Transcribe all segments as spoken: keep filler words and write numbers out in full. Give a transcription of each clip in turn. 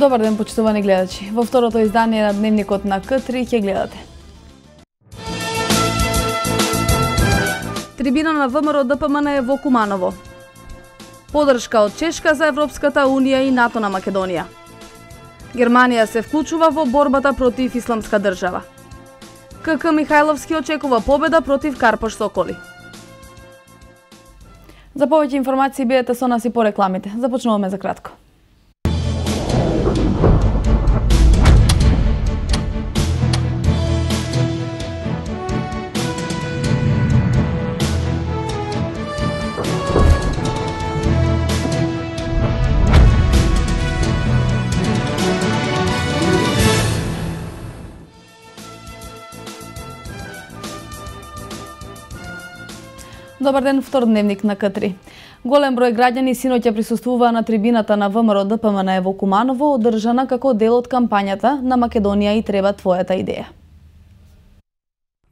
Добар ден, почитувани гледачи. Во второто издание на Дневникот на К три ќе гледате. Трибина на ВМРО Д П М Н е во Куманово. Подршка од Чешка за Европската Унија и НАТО на Македонија. Германија се вклучува во борбата против Исламска држава. К К Михајловски очекува победа против Карпош Соколи. За повеќе информации бидете со нас и по рекламите. Започнуваме за кратко. Добар ден, втор дневник на К три. Голем број граѓани синоќа присуствуваа на трибината на ВМРО Д П М Н во Куманово, одржана како дел од кампањата на Македонија и треба твојата идеја.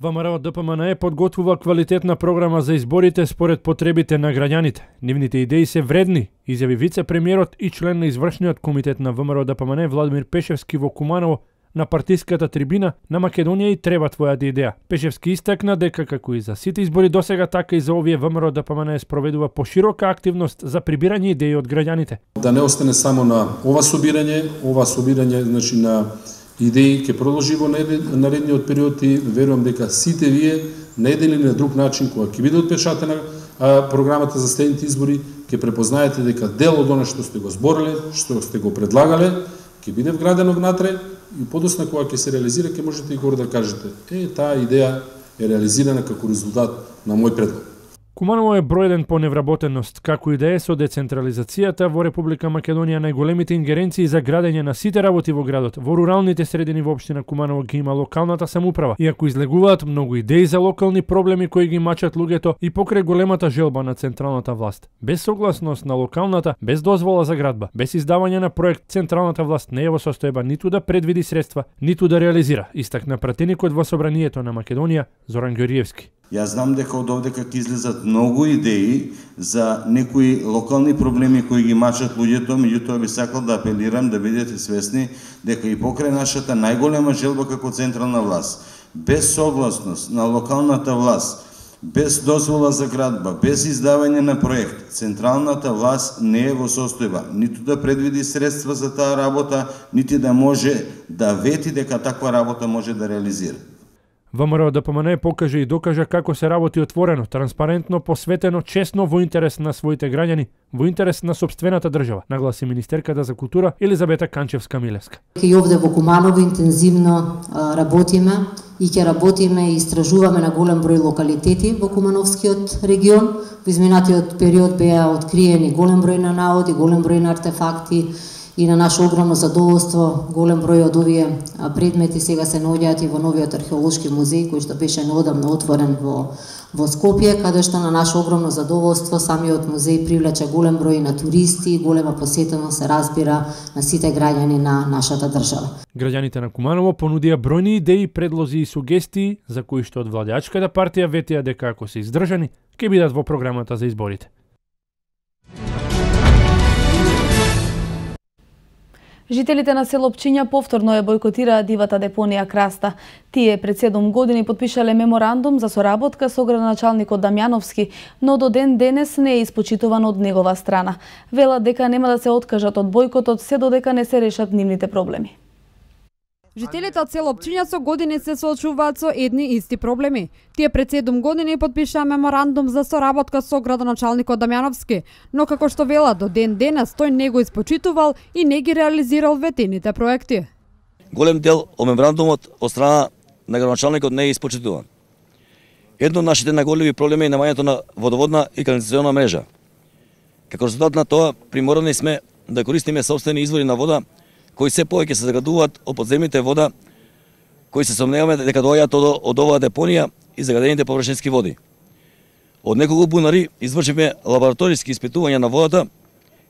ВМРО Д П М Н подготвува квалитетна програма за изборите според потребите на граѓаните. Нивните идеи се вредни, изјави вице-премиерот и член на извршниот комитет на ВМРО Д П М Н Владимир Пешевски во Куманово на партиската трибина на Македонија и треба твојата идеја. Пешевски истакна дека како и за сите избори досега, така и за овие ВМРО Д П М Н спроведува поширока активност за прибирање идеи од граѓаните. Да не остане само на ова собирање, ова собирање значи на идеи ќе продолжи во наредниот период и верувам дека сите вие на еден или на друг начин кога ќе биде отпечатана а, програмата за следните избори, ќе препознаете дека дел од она што сте го збориле, што сте го предлагале, ќе биде вградено внатре и подосна кога ќе се реализира, ќе можете и горе да кажете: е, таа идеја е реализирана како резултат на мој предлог. Куманово е бројден по невработеност, како и да е со децентрализацијата во Република Македонија најголемите ингеренции за градење на сите работи во градот. Во руралните средини во општина Куманово ги има локалната самоуправа, иако излегуваат многу идеи за локални проблеми кои ги мачат луѓето и покрај големата желба на централната власт. Без согласност на локалната, без дозвола за градба, без издавање на проект, централната власт не е во состојба ниту да предвиди средства, ниту да реализира, истакна пратеникот во Собранието на Македонија Зоран Ѓориевски. Јас знам дека од овдека ќе излезат многу идеи за некои локални проблеми кои ги мачат луѓето, меѓутоа би сакал да апелирам да бидете свесни дека и покрај нашата најголема желба како централна власт, без согласност на локалната власт, без дозвола за градба, без издавање на проект, централната власт не е во состојба ниту да предвиди средства за таа работа, нити да може да вети дека таква работа може да реализира. ВМРО Д П М Н покажа и докажа како се работи отворено, транспарентно, посветено, честно во интерес на своите граѓани, во интерес на сопствената држава, нагласи министерката за култура Елизабета Канчевска-Милевска. И овде во Куманово интензивно работиме и ќе работиме и истражуваме на голем број локалитети во Кумановскиот регион. Во изминатиот период беа откриени голем број на наоди, голем број на артефакти, и на наше огромно задоволство голем број од овие предмети сега се наоѓаат и во новиот археолошки музеј кој што беше неодамно отворен во во Скопје, каде што на наше огромно задоволство самиот музеј привлече голем број на туристи и голема посетеност се разбира на сите граѓани на нашата држава. Граѓаните на Куманово понудија бројни идеи, предлози и сугестии за кои што од владеачката партија ветија дека ако се издржани ќе бидат во програмата за изборите. Жителите на село Пчиња повторно ја бојкотираа дивата депонија Краста. Тие пред седум години подпишале меморандум за соработка со градоначалникот Дамјановски, но до ден денес не е испочитуван од негова страна. Велат дека нема да се откажат од бојкотот се додека не се решат нивните проблеми. Жителите од село Пчиња со години се соочуваат со едни исти проблеми. Тие пред седум години подпишаа меморандум за соработка со градоначалникот Дамјановски, но како што велат до ден денес тој не го испочитувал и не ги реализирал ветените проекти. Голем дел од меморандумот од страна на градоначалникот не е испочитуван. Едно од нашите најголеми проблеми е намањето на водоводна и канализациона мрежа. Како резултат на тоа, приморани сме да користиме сопствени извори на вода кои се повеќе се загадуваат од подземните вода, кои се сомневаме дека доаѓаат од, од оваа депонија и загадените површински води. Од неколку бунари извршивме лабораториски испитувања на водата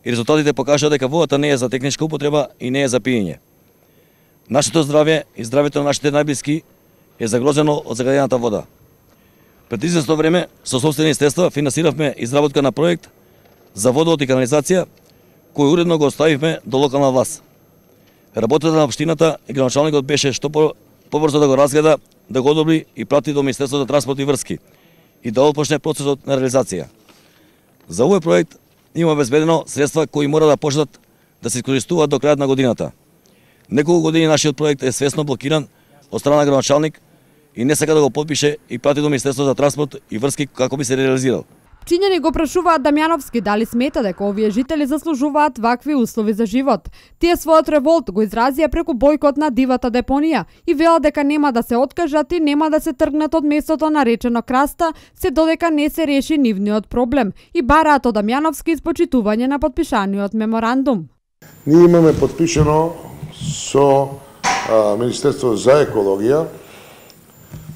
и резултатите покажаа дека водата не е за техничка употреба и не е за пиење. Нашето здравје и здравјето на нашите најблиски е загрозено од загадената вода. Пред известно време со сопствени средства финансиравме изработка на проект за водовод и канализација, кој уредно го оставивме до локална власт. Работата на општината и градоначалникот беше што побрзо да го разгледа, да го одобри и прати до Министерството за транспорт и врски и да отпочне процесот на реализација. За овој проект има обезбедено средства кои мора да почнат да се искористуваат до крајот на годината. Неколку години нашиот проект е свесно блокиран од страна на градоначалник и не сака да го потпише и прати до Министерството за транспорт и врски како би се реализирал. Пчињани го прашуваат Дамјановски дали смета дека овие жители заслужуваат вакви услови за живот. Тие својот револт го изразија преку бојкот на дивата депонија и велат дека нема да се откажат и нема да се тргнат од местото наречено Краста, се додека не се реши нивниот проблем и бараат од Дамјановски испочитување на подпишаниот меморандум. Ние имаме подпишано со а, Министерство за екологија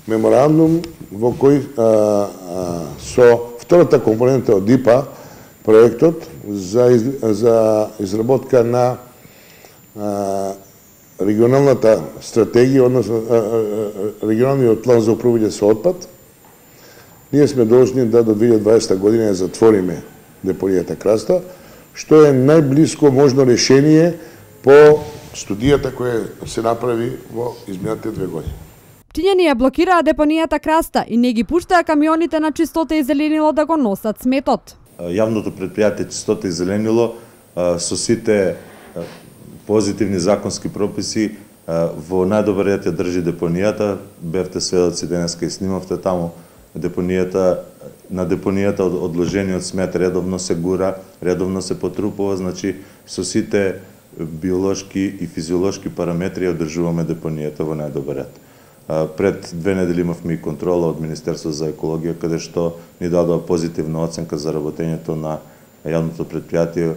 меморандум во кој а, а, со втората компонента од ди ай пи ей проектот за, из, за изработка на а, регионалната стратегија, односно а, а, регионалниот план за управување со отпад. Ние сме должни да до две илјади и дваесета година ја затвориме депонијата Краста, што е најблиско можно решение по студијата која се направи во изминатите две години. Пчињани ја блокираа депонијата Краста и не ги пуштаа камионите на Чистота и зеленило да го носат сметот. Јавното предпријатие Чистота и зеленило со сите позитивни законски прописи во најдобар ред ја држи депонијата. Бевте сведоци денеска и снимавте таму депонијата, на депонијата одложениот смет редовно се гура, редовно се потрупува, значи со сите биолошки и физиолошки параметри ја одржуваме депонијата во најдобар ред. Пред две недели имавме и контрола од Министерство за екологија, каде што ни дадоа позитивна оценка за работењето на јавното предпријатие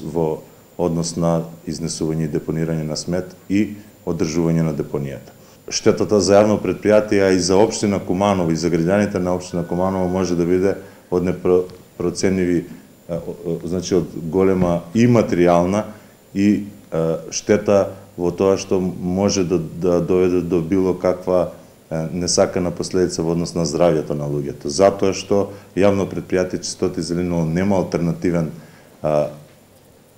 во однос на изнесување и депонирање на смет и одржување на депонијата. Штетата за јавно предпријатие и за општина Куманово и за граѓаните на општина Куманово може да биде од непроценливи, значи од голема и материјална и штета во тоа што може да, да доведе до било каква несакана последица во однос на здравјето на луѓето. Затоа што јавно предпријатие Чистота и зеленило нема алтернативен а,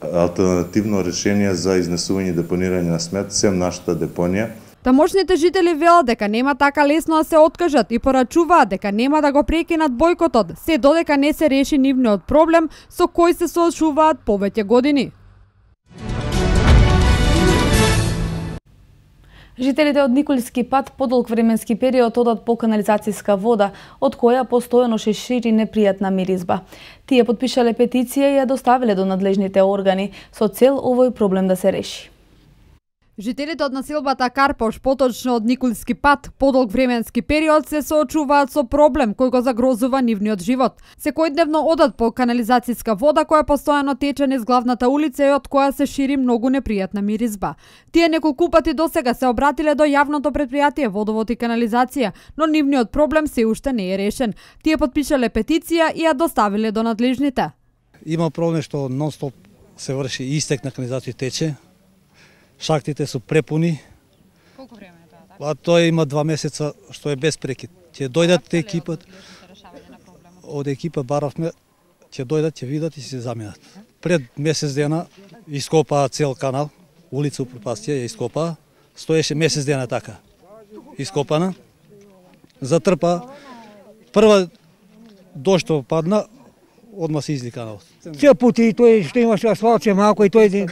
алтернативно решение за изнесување и депонирање на смет, сем нашата депонија. Тамошните жители велат дека нема така лесно да се откажат и порачуваат дека нема да го прекинат бојкотот, се додека не се реши нивниот проблем со кој се соочуваат повеќе години. Жителите од Николски пат подолг временски период одат по канализацијска вода, од која постојано се шири непријатна миризба. Тие потпишале петиција и ја доставиле до надлежните органи со цел овој проблем да се реши. Жителите од населбата Карпош, поточно од Николски пат, подолг временски период се соочуваат со проблем кој го загрозува нивниот живот. Секојдневно одат по канализацијска вода која постојано тече низ главната улица и од која се шири многу непријатна миризба. Тие неколку пати досега се обратиле до јавното предпријатие Водовод и канализација, но нивниот проблем се уште не е решен. Тие потпишале петиција и ја доставиле до надлежните. Има проблем што нон-стоп се врши истек на канализација тече. Шахтите се препуни. Колку време е тоа така? Па тоа има два месеца што е без прекид. Ќе дојдат екипот. Од екипа баравме, ќе дојдат, ќе видат и се заменат. Пред месец дена ископаа цел канал, улица Упропастија ја ископаа. Стоеше месец дена така. Ископана. Затрпа. Прва дошто падна, одма се изли каналот. Цел пути и тој што имаше асфалт се малку и тој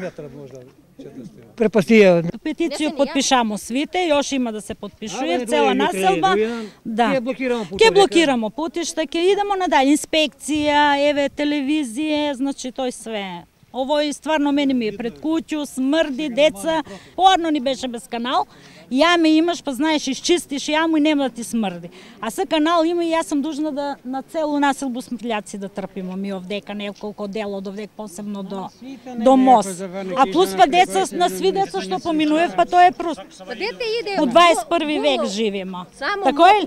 препастија. Петиција потпишамо свите, још има да се потпишува цела населба. Да. Ќе блокирамо путишта. Ќе блокирамо путишта, ќе идемо надале инспекција, еве телевизија, значи тој све. Овој стварно мене ми е пред куќу, смрди, деца, порно ни беше без канал. Јаме имаш, па знаеш, изчистиш јаму и нема да ти смрди. А са канал има и јас сум дужна да на целу населбу смртљаци да трпимо ми овдека неколку дела од овдек, посебно до до мост. А плюс па деца, на сви деца што поминуев, па тоа е просто. У дваесет и први век живееме. Тако е?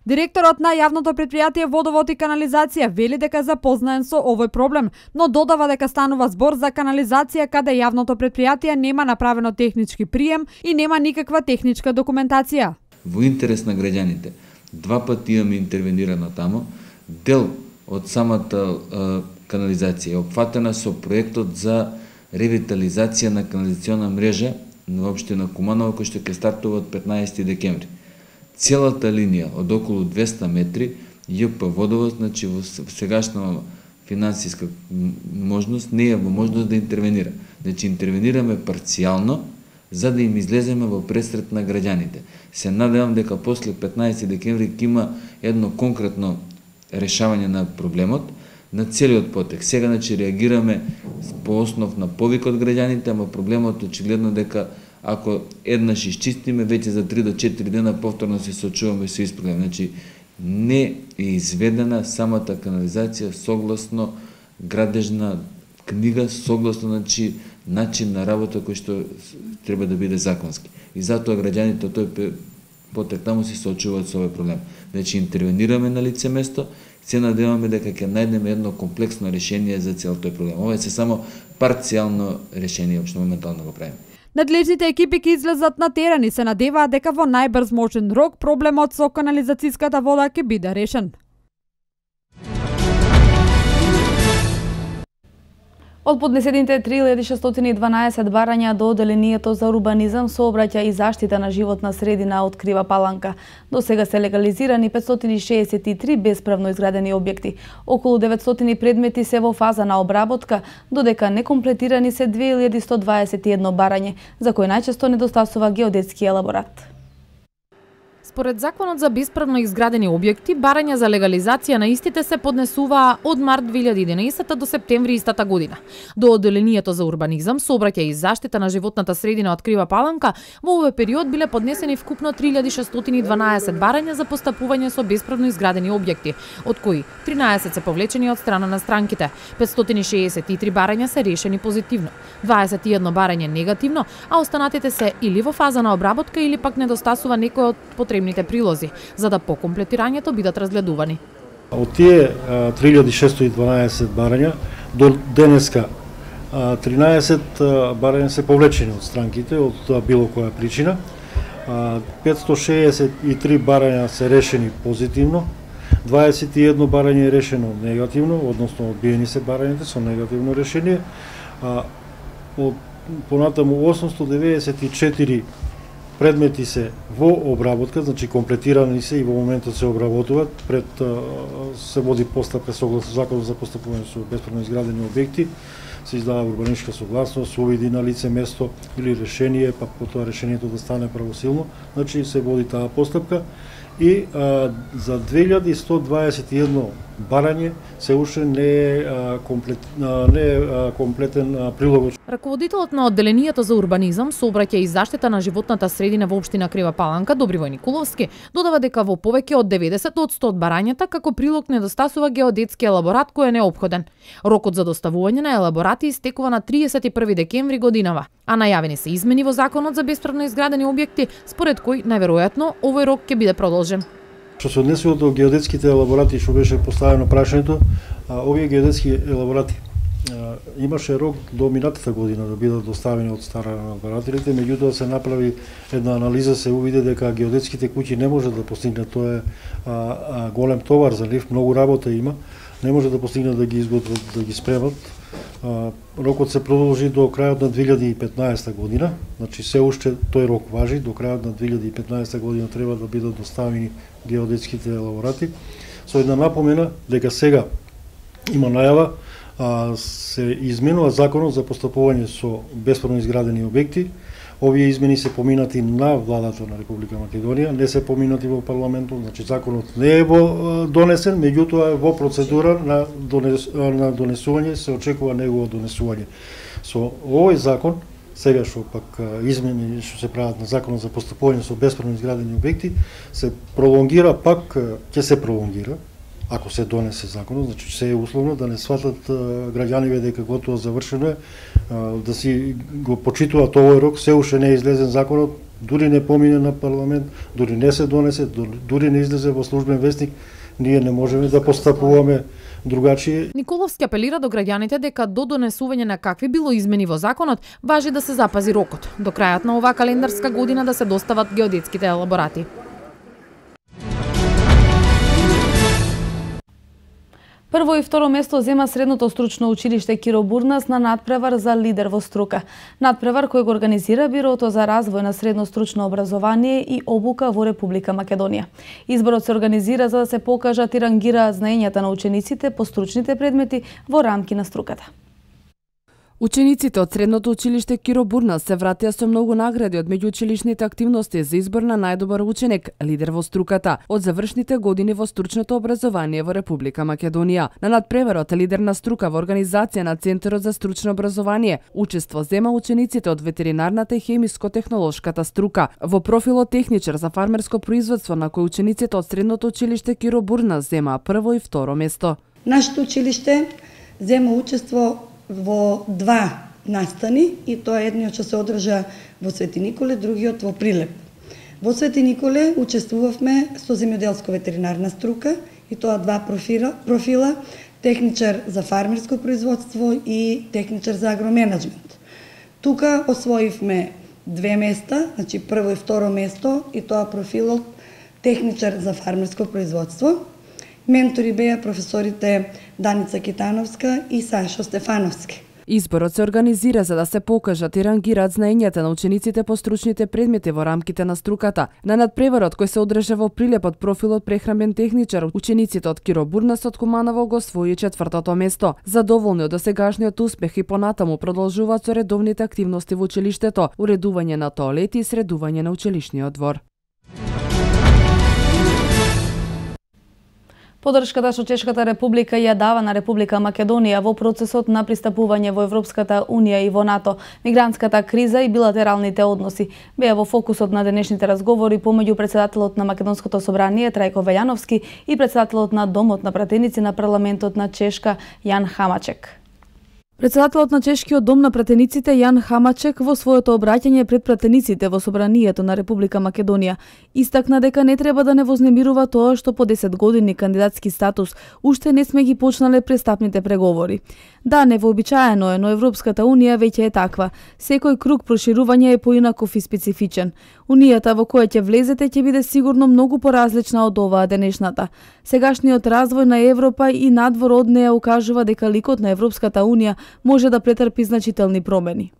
Директорот на јавното предпријатие Водовод и канализација вели дека е запознаен со овој проблем, но додава дека станува збор за канализација каде јавното предпријатие нема направено технички прием и нема никаква техничка документација. Во интерес на граѓаните, два пати имаме интервенирано тамо, дел од самата е, канализација е опфатена со проектот за ревитализација на канализациона мрежа на општина Куманово, кој што ќе стартува од петнаесети декември. Целата линија од околу двесте метри ЈП Водовод, значи во сегашна финансиска можност не е во можност да интервенира. Значи интервенираме парцијално за да им излеземе во пресрет на граѓаните. Се надевам дека после петнаесети декември ќе има едно конкретно решавање на проблемот на целиот потек. Сега значи реагираме по основ на повик од граѓаните, ама проблемот очигледно дека ако еднаш изчистиме, веќе за три до четири дена повторно се соочуваме со ист проблем. Значи не е изведена самата канализација согласно градежна книга, согласно значи начин на работа кој што треба да биде законски. И затоа граѓаните тој потек таму се соочуваат со овој проблем. Значи интервенираме на лице место, се надеваме дека ќе најдеме едно комплексно решение за цел тој проблем. Ова е се само парцијално решение, што моментално го правиме. Надлежните екипи ќе излезат на терен и се надеваат дека во најбрз можен рок проблемот со канализацијската вода ќе биде решен. Од поднесените три илјади шестстотини и дванаесет барања до Оделението за урбанизам, сообраќај и заштита на животна средина од Крива Паланка. До сега се легализирани петстотини шеесет и три бесправно изградени објекти. Околу деветстотини предмети се во фаза на обработка, додека некомплетирани се две илјади сто дваесет и едно барање, за кои најчесто недостасува геодетски елаборат. Според Законот за бесправно изградени објекти, барања за легализација на истите се поднесуваа од март две илјади и единаесета до септември истата година. До Оделението за урбанизам, сообраќај и заштита на животната средина од Крива Паланка, во овој период биле поднесени вкупно три илјади шестстотини и дванаесет барања за постапување со бесправно изградени објекти, од кои тринаесет се повлечени од страна на странките, петстотини шеесет и три барања се решени позитивно, дваесет и едно барање негативно, а останатите се или во фаза на обработка или пак недостасува некој од потребните прилози, за да по комплетирањето бидат разгледувани. Од тие три илјади шестстотини и дванаесет барања до денеска тринаесет барања се повлечени од странките од било која причина. петстотини шеесет и три барања се решени позитивно, дваесет и едно барање е решено негативно, односно одбиени се барањата со негативно решение. Од понатаму осумстотини деветдесет и четири предмети се во обработка, значи комплетирани се и во моментот се обработуваат, пред се води постапка согласно Законот за постапување со бесправно изградени објекти, се издава урбаничка согласност, увиди на лице место или решение, па потоа решението да стане правосилно, значи се води таа постапка и а, за две илјади сто дваесет и едно барање се уште не е а, комплет, а, не е а, комплетен а, прилог. Раководителот на Оделението за урбанизам, сообраќај и заштита на животната средина во општина Крива Паланка, Добривој Николовски, додава дека во повеќе од деветдесет од сто од барањата како прилог недостасува геодетски елаборат кој е неопходен. Рокот за доставување на елаборати истекува на триесет и први декември годинава, а најавени се измени во Законот за бесправно изградени објекти, според кој најверојатно овој рок ќе биде продолжен. Што се однесува до геодетските елаборати, што беше поставено прашањето, овие геодетски елаборати имаше рок до минатата година да бидат доставени од страна на одбирателите, меѓутоа се направи една анализа, се увиде дека геодетските куќи не може да постигнат, тоа е а, а, голем товар за нив, многу работа има, не може да постигнат да ги изготват, да ги спремат. А, рокот се продолжи до крајот на две илјади и петнаесета година, значи се уште тој рок важи, до крајот на две илјади и петнаесета година треба да бидат доставени геодетските елаборати, со една напомена дека сега има најава а, се изменува Законот за постапување со бесправно изградени објекти. Овие измени се поминати на владата на Република Македонија, не се поминати во парламентот, значи законот не е во донесен, меѓутоа е во процедура на, донес, на донесување, се очекува негово донесување. Со овој закон, сега што пак измени што се прават на Законот за постапување со бесправно изградени објекти, се пролонгира пак, ќе се пролонгира, ако се донесе законот, значи се е условно да не сватат граѓаните дека готово завршено е, да си го почитуваат овој рок, се уште не е излезен законот, дури не помине на парламент, дури не се донесе, дури не излезе во службен вестник, ние не можеме да постапуваме другачие. Николовски апелира до граѓаните дека до донесување на какви било измени во законот, важи да се запази рокот, до крајот на оваа календарска година да се достават геодетските елаборати. Прво и второ место зема средното стручно училиште Киро Бурнас на надпревар за лидер во струка. Надпревар кој го организира Бирото за развој на средно стручно образование и обука во Република Македонија. Изборот се организира за да се покажат и рангираат знаењата на учениците по стручните предмети во рамки на струката. Учениците од средното училиште Киро Бурнас се вратија со многу награди од меѓуучилишните активности за избор на најдобар ученик, лидер во струката, од завршните години во стручното образование во Република Македонија. На надпреварот лидер на струка во организација на Центарот за стручно образование учество зема учениците од ветеринарната и хемиско-технолошката струка. Во профилот техничар за фармерско производство на кој учениците од средното училиште Киро Бурнас зема прво и второ место. Нашето училиште зема учество во два настани и тоа едниот ќе се одржа во Свети Николе, другиот во Прилеп. Во Свети Николе учествувавме со земјоделско-ветеринарна струка и тоа два профила, профила техничар за фармерско производство и техничар за агроменеджмент. Тука освоивме две места, значи прво и второ место и тоа профилот техничар за фармерско производство. Ментори беа професорите Даница Китановска и Сашо Стефановски. Изборот се организира за да се покажат и рангираат знаењата на учениците по стручните предмети во рамките на струката. На надпреварот кој се одржа во Прилеп од профилот прехранбен техничар, учениците од Киро Бурнас од Куманово го освои четвртото место. Задоволни од досегашниот успех и понатаму продолжуваат со редовните активности во училиштето, уредување на тоалети и средување на училишниот двор. Подршката што Чешката република ја дава на Република Македонија во процесот на пристапување во Европската унија и во НАТО, мигрантската криза и билатералните односи беа во фокусот на денешните разговори помеѓу председателот на Македонското собрание Трајко Велјановски и председателот на Домот на пратеници на парламентот на Чешка Јан Хамачек. Председателот на Чешкиот дом на пратениците Јан Хамачек во своето обраќање пред пратениците во собранието на Република Македонија истакна дека не треба да не вознемирува тоа што по десет години кандидатски статус уште не сме ги почнале престапните преговори. Да, невообичаено е, но Европската унија веќе е таква. Секој круг проширување е поинаков и специфичен. Унијата во која ќе влезете ќе биде сигурно многу поразлична од оваа денешната. Сегашниот развој на Европа и надвор од неа укажува дека ликот на Европската унија може да претрпи значителни промени.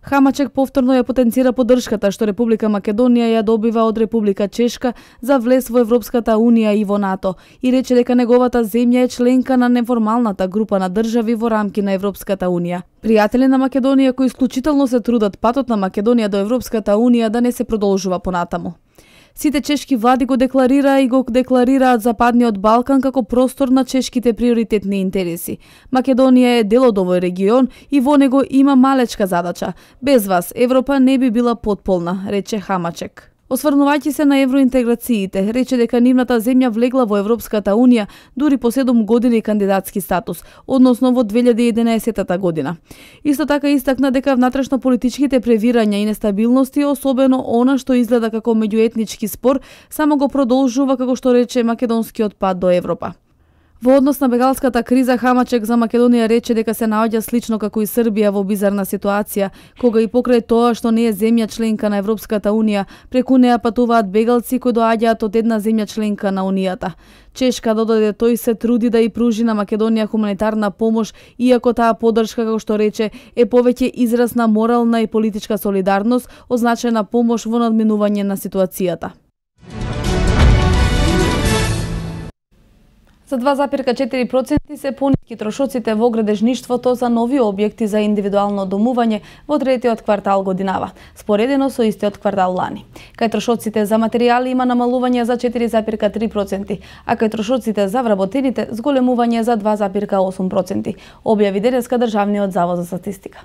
Хамачек повторно ја потенцира поддршката што Република Македонија ја добива од Република Чешка за влез во Европската унија и во НАТО и рече дека неговата земја е членка на неформалната група на држави во рамки на Европската унија. Пријатели на Македонија кои исклучително се трудат патот на Македонија до Европската унија да не се продолжува понатаму. Сите чешки влади го декларира и го декларираат Западниот Балкан како простор на чешките приоритетни интереси. Македонија е дел од овој регион и во него има малечка задача. Без вас Европа не би била потполна, рече Хамачек. Осврнувајќи се на евроинтеграциите, рече дека нивната земја влегла во Европската унија дури по седум години кандидатски статус, односно во две илјади и единаесетта година. Исто така истакна дека внатрешно политичките превирања и нестабилности, особено она што изгледа како меѓуетнички спор, само го продолжува, како што рече, македонскиот пат до Европа. Во однос на бегалската криза, Хамачек за Македонија рече дека се наоѓа слично како и Србија во бизарна ситуација, кога и покрај тоа што не е земја членка на Европската унија, преку неа патуваат бегалци кои доаѓаат од една земја членка на унијата. Чешка додаде тој се труди да и пружи на Македонија хуманитарна помош, иако таа поддршка, како што рече, е повеќе израз на морална и политичка солидарност, означена помош во надминување на ситуацијата. За два запирка четири проценти се пониски трошоците во градежништвото за нови објекти за индивидуално домување во третиот квартал годинава, споредено со истиот квартал лани. Кај трошоците за материјали има намалување за четири запирка три проценти, а кај трошоците за вработените зголемување за два запирка осум проценти, објави денеска Државниот завод за статистика.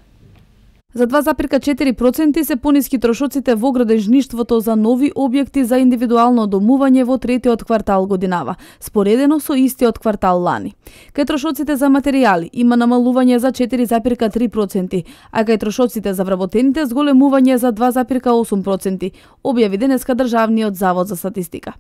За два запирка четири проценти се пониски трошоците во градежништвото за нови објекти за индивидуално домување во третиот квартал годинава, споредено со истиот квартал лани. Кај трошоците за материјали има намалување за четири запирка три проценти, а кај трошоците за вработените зголемување за два запирка осум проценти, објави денеска Државниот завод за статистика.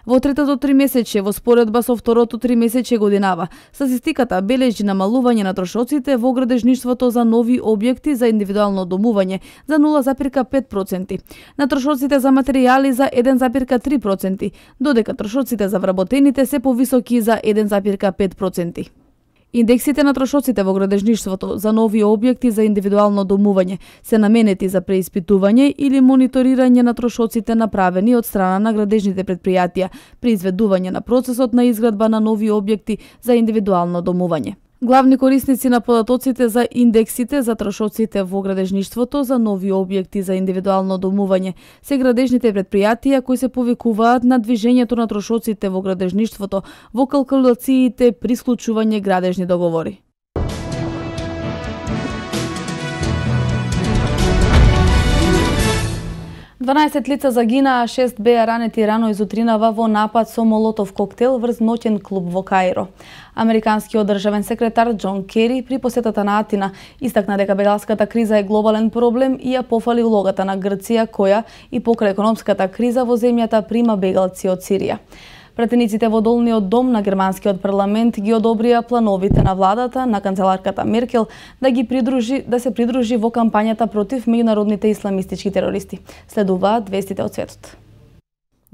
Во третото тримесечје во споредба со второто тримесечје годинава, статистиката бележи намалување на трошоците во градежништвото за нови објекти за индивидуално индивидуално домување за нула зарез пет проценти, на трошоците за материјали за еден зарез три проценти, додека трошоците за вработените се повисоки за еден зарез пет проценти. Индексите на трошоците во градежништвото за нови објекти за индивидуално домување се наменети за преиспитување или мониторирање на трошоците направени од страна на градежните претпријатија при изведување на процесот на изградба на нови објекти за индивидуално домување. Главни корисници на податоците за индексите за трошоците во градежништвото за нови објекти за индивидуално домување се градежните претпријатија кои се повикуваат на движењето на трошоците во градежништвото во калкулациите при склучување градежни договори. дванаесет лица загинаа, шест беа ранети рано изутринава во напад со молотов коктел врз ноќен клуб во Каиро. Американскиот државен секретар Џон Кери при посетата на Атина истакна дека бегалската криза е глобален проблем и ја пофали улогата на Грција која и покрај економската криза во земјата прима бегалци од Сирија. Пратениците во долниот дом на германскиот парламент ги одобрија плановите на владата на канцеларката Меркел да ги придружи да се придружи во кампањата против меѓународните исламистички терористи. Следуваат вестите од светот.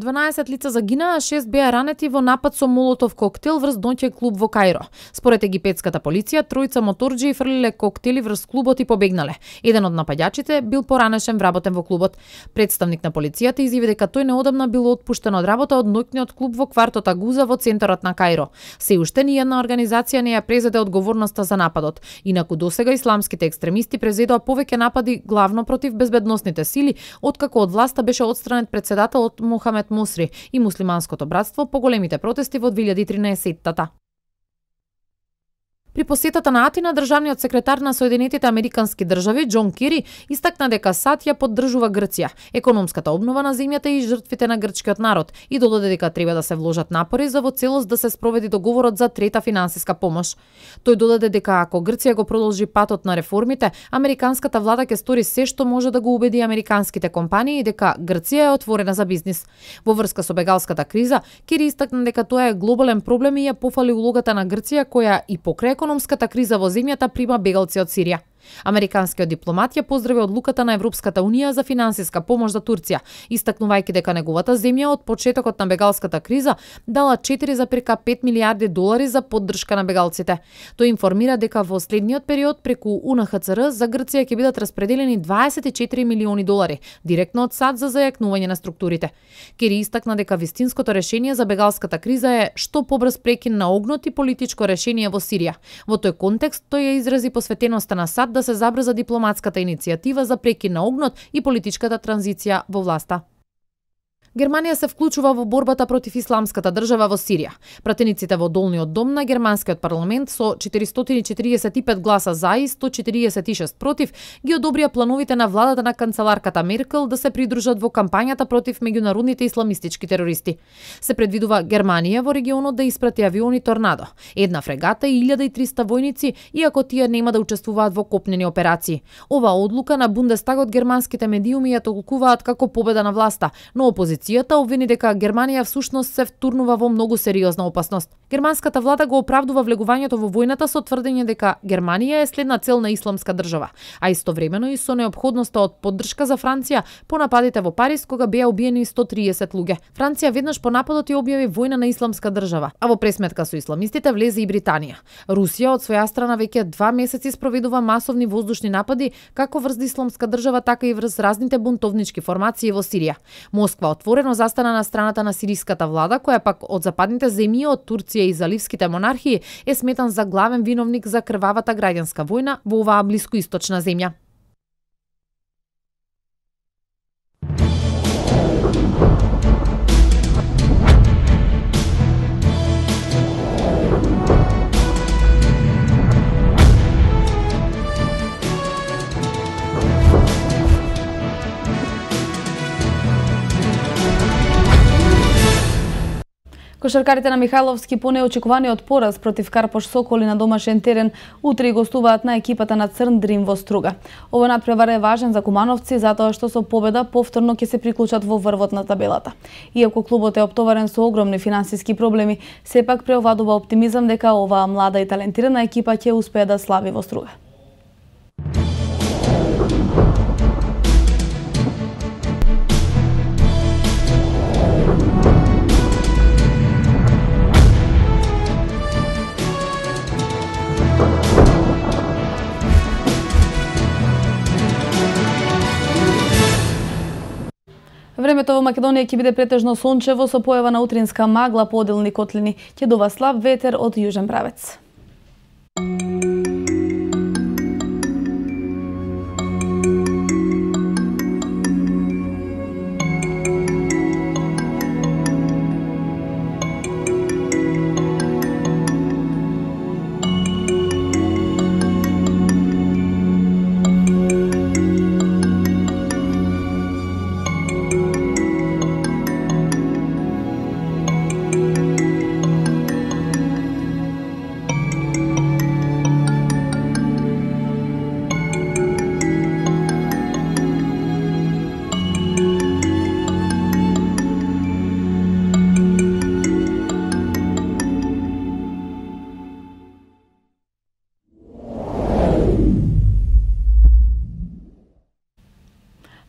дванаесет лица загинаа, шест беа ранети во напад со молотов коктел врз ноќен клуб во Каиро. Според египетската полиција, тројца моторџии фрлиле коктели врз клубот и побегнале. Еден од напаѓачите бил поранешен вработен во клубот. Представник на полицијата изјави дека тој неодамна бил отпуштен од работа од ноќниот клуб во квартот Агуза во центарот на Каиро. Се уште ни една организација не ја презеде одговорноста за нападот. Инаку досега исламските екстремисти презедоа повеќе напади главно против безбедносните сили, откако од власта беше отстранет председателот Мохамед Мусри и муслиманското братство по големите протести во две илјади и тринаесетта. При посетата на Атина, државниот секретар на Соединетите Американски држави Џон Кери истакна дека САД ја поддржува Грција, економската обнова на земјата и жртвите на грчкиот народ и додаде дека треба да се вложат напори за во целост да се спроведи договорот за трета финансиска помош. Тој додаде дека ако Грција го продолжи патот на реформите, американската влада ќе стори се што може да го убеди американските компании дека Грција е отворена за бизнис. Во врска со бегалската криза, Кери истакна дека тоа е глобален проблем и ја пофали улогата на Грција која и покрај економската криза во земјата прима бегалци од Сирија. Американскиот дипломат ја поздрави одлуката на Европската унија за финансиска помош за Турција, истакнувајќи дека неговата земја од почетокот на бегалската криза дала четири зарез пет милијарди долари за поддршка на бегалците. Тој информира дека во следниот период преку У Н Х Ц Р за Грција ќе бидат распределени дваесет и четири милиони долари директно од САД за зајакнување на структурите. Кери истакна дека вистинското решение за бегалската криза е што побрз прекин на огнот и политичко решение во Сирија. Во тој контекст тој ја изрази посветеноста на САД да се забрза дипломатската иницијатива за прекин на огнот и политичката транзиција во власта. Германија се вклучува во борбата против исламската држава во Сирија. Пратениците во долниот дом на германскиот парламент со четиристотини и четиридесет и пет гласа за и сто четиридесет и шест против ги одобрија плановите на владата на канцеларката Меркел да се придружат во кампањата против меѓународните исламистички терористи. Се предвидува Германија во регионот да испрати авиони Торнадо, една фрегата и илјада и триста војници, иако тие нема да учествуваат во копнени операции. Оваа одлука на Бундестагот германските медиуми ја толкуваат како победа на власта, но опозицијата обвини дека Германија всушност се втурнува во многу сериозна опасност. Германската влада го оправдува влегувањето во војната со тврдење дека Германија е следна цел на исламска држава, а истовремено и со неопходноста од поддршка за Франција по нападите во Париз кога беа убиени сто триесет луѓе. Франција веднаш по нападот ја објави војна на исламска држава, а во пресметка со исламистите влезе и Британија. Русија од своја страна веќе два месеци спроведува масовни воздушни напади како врз исламска држава, така и врз разните бунтовнички формации во Сирија. Москва отворено застана на страната на сириската влада, која пак од западните земји, од Турција и заливските монархии, е сметан за главен виновник за крвавата граѓанска војна во оваа блискоисточна земја. Кошаркарите на Михајловски по неочекуваниот пораз против Карпош Соколи на домашен терен утре гостуваат на екипата на Црн Дрим во Струга. Овој надпревар е важен за кумановци затоа што со победа повторно ќе се приклучат во врвот на табелата. Иако клубот е оптоварен со огромни финансиски проблеми, сепак преовладува оптимизам дека оваа млада и талентирана екипа ќе успее да слави во Струга. Времето во Македонија ќе биде претежно сончево со појава на утринска магла, поделни котлини. Ќе дува слаб ветер од јужен правец.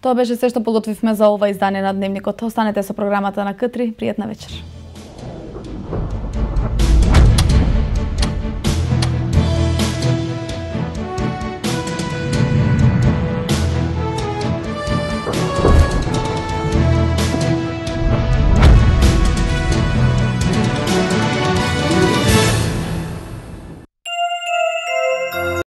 Тоа беше се што подготвивме за ова издание на Дневникот. Останете со програмата на К три. Пријатна вечер.